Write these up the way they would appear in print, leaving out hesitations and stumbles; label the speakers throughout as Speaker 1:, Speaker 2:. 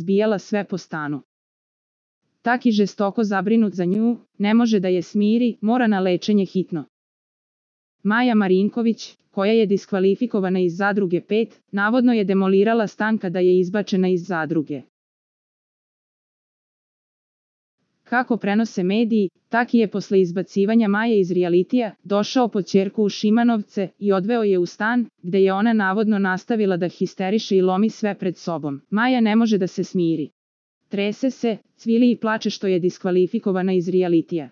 Speaker 1: razbijala sve po stanu. Taki žestoko zabrinut za nju, ne može da je smiri, mora na lečenje hitno. Maja Marinković, koja je diskvalifikovana iz zadruge 5, navodno je demolirala stan kada je izbačena iz zadruge. Kako prenose mediji, Taki je posle izbacivanja Maje iz realitija došao po ćerku u Šimanovce i odveo je u stan, gde je ona navodno nastavila da histeriše i lomi sve pred sobom. Maja ne može da se smiri. Trese se, cvili i plače što je diskvalifikovana iz realitija.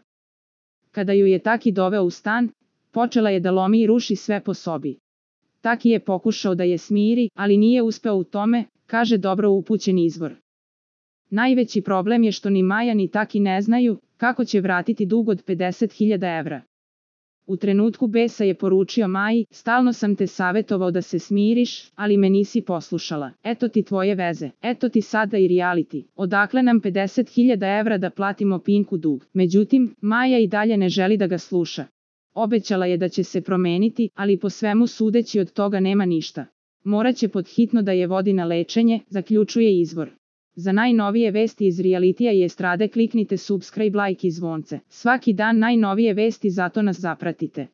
Speaker 1: Kada ju je Taki doveo u stan, počela je da lomi i ruši sve po sobi. Taki je pokušao da je smiri, ali nije uspeo u tome, kaže dobro upućen izvor. Najveći problem je što ni Maja ni Taki ne znaju kako će vratiti dug od 50.000 evra. U trenutku besa je poručio Maji, stalno sam te savetovao da se smiriš, ali me nisi poslušala. Eto ti tvoje veze, eto ti sada i reality. Odakle nam 50.000 evra da platimo Pinku dug? Međutim, Maja i dalje ne želi da ga sluša. Obećala je da će se promeniti, ali po svemu sudeći od toga nema ništa. Moraće pod hitno da je vodi na lečenje, zaključuje izvor. Za najnovije vesti iz realitija i estrade kliknite subscribe, like i zvonce. Svaki dan najnovije vesti, zato nas zapratite.